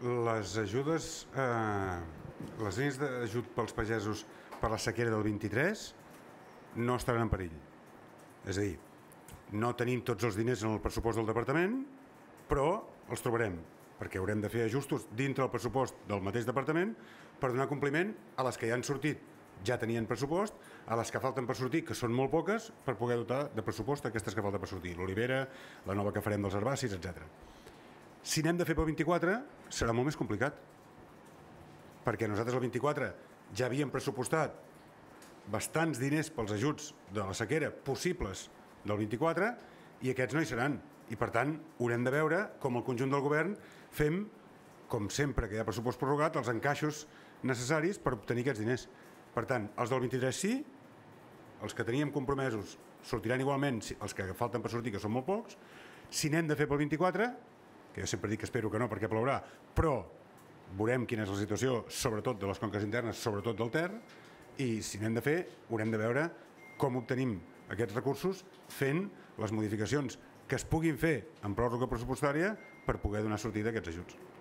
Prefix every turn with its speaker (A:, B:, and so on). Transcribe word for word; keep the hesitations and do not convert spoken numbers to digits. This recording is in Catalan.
A: les ajudes, eh, les línies d'ajut pels pagesos per la sequera del vint-i-tres no estaran en perill. És a dir, no tenim tots els diners en el pressupost del departament, però els trobarem, perquè haurem de fer ajustos dintre el pressupost del mateix departament per donar compliment a les que ja han sortit, ja tenien pressupost, a les que falten per sortir, que són molt poques, per poder dotar de pressupost aquestes que falten per sortir, l'olivera, la nova que farem dels herbacis, etcètera. Si n'hem de fer pel vint-i-quatre, serà molt més complicat, perquè nosaltres el vint-i-quatre ja havíem pressupostat bastants diners pels ajuts de la sequera possibles del vint-i-quatre i aquests no hi seran. I, per tant, haurem de veure com el conjunt del govern fem, com sempre que hi ha pressupost prorrogat, els encaixos necessaris per obtenir aquests diners. Per tant, els del vint-i-tres sí, els que teníem compromesos sortiran igualment, els que falten per sortir, que són molt pocs. Si n'hem de fer pel vint-i-quatre, que jo sempre dic que espero que no perquè plourà, però veurem quina és la situació, sobretot de les conques internes, sobretot del Ter, i si n'hem de fer, haurem de veure com obtenim aquests recursos fent les modificacions que es puguin fer en pròrroga pressupostària per poder donar sortida a aquests ajuts.